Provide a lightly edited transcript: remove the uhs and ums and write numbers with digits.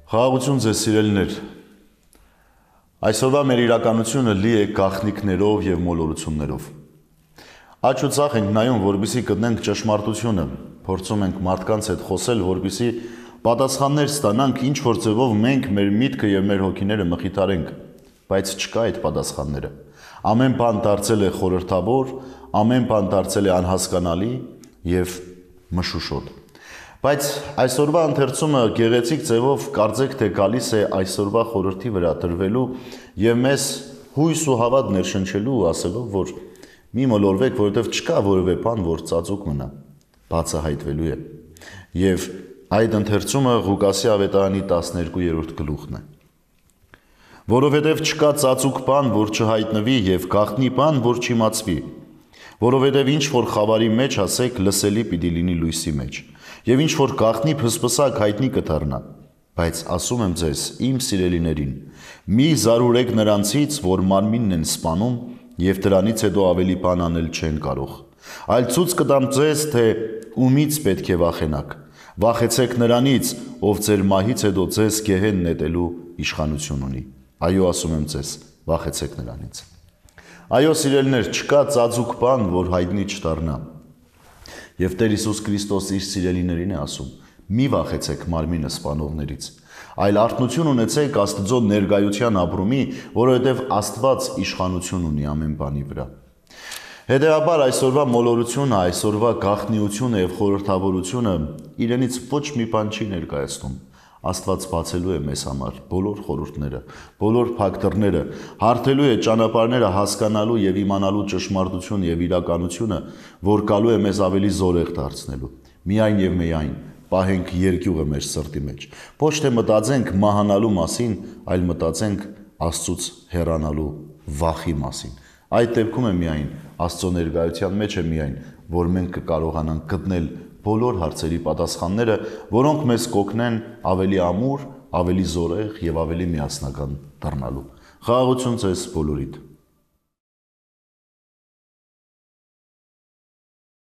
Խաղաղություն ձեզ սիրելիներ, այսօրվա մեր իրականությունը լի է գաղտնիքներով և մոլորություններով։ Աջ ու ձախ ենք նայում, որպեսզի գտնենք ճշմարտությունը, փորձում ենք մարդկանց հետ խոսել, որպեսզի պատասխաններ ստանանք, ինչ որ ձևով մենք մեր միտքը և մեր հոգիները մխիթարենք, բայց չկա այդ պատասխանները։ Ամեն բան դարձել է խորհրդավոր, ամեն բան դարձել է անհասկանալի և մշուշոտ։ Բայց այսօրվա ընթերցումը գեղեցիկ ձևով կարծեք թե գալիս է այսօրվա խորհրդի վրա դրվելու և մեզ հույս ու հավատ ներշնչելու ու ասելով, որ մի մոլորվեք, որովհետև չկա որևէ բան, որ ծածուկ մնա, բացահայտվելու է։ Եվ այդ ընթերցումը Ղուկասի ավետարանի 12-րդ գլուխն է։ Որովհետև չկա ծածուկ բան, որ չհայտնվի և գաղտնի բան, որ չիմացվի, որովհետև ինչ որ խավարի մեջ ասեք, լսելի պիտի լինի լույսի մեջ, և ինչ որ գաղտնի փսպսակ հայտնի կդառնա, բայց ասում եմ ձեզ, իմ սիրելիներին, մի զարուրեք նրանցից, որ մարմինն են սպանում, և դրանից հետո ավելի բան անել չեն կարող, այլ ցույց կտամ ձեզ, թե ումից պետք է վախենաք, վախեցեք նրանից, ով ձեր մահից հետո ձեզ գեհեն նետելու իշխանություն ունի, այո ասում եմ ձեզ, վախեցեք նրանից։ Այո սիրելիներ, չկա ծածուկ բան, որ հայտնի չդառնա։ Եվ Տեր Հիսուս Քրիստոս իր սիրելիներին է ասում. մի վախեցեք մարմինը սպանողներից, այլ արթնություն ունեցեք Աստծո ներկայության ապրումի, որովհետև Աստված իշխանություն ունի ամեն բանի վրա։ Հետևաբար այսօրվա մոլորությունը, այսօրվա գաղտնիությունը և խորհրդավորությունը իրենից ոչ մի բան չի ներկայացնում։ Աստված բացելու է մեզ համար բոլոր խորհուրդները, բոլոր փակ դռները, հարթելու է ճանապարհները հասկանալու և իմանալու ճշմարտություն և իրականությունը, որ գալու է մեզ ավելի զորեղ դարձնելու։ Միայն և միայն պահենք երկյուղը մեր սրտի մեջ, ոչ թե մտածենք մահանալու մասին, այլ մտածենք Աստծուց հեռանալու վախի մասին։ Այդ դեպքում է միայն Աստծո ներկայության մեջ է միայն, որ մենք կկարողանանք գտնել բոլոր հարցերի պատասխանները, որոնք մեզ կօգնեն ավելի ամուր, ավելի զորեղ և ավելի միասնական դառնալու։ Խաղաղություն ձեզ բոլորիդ։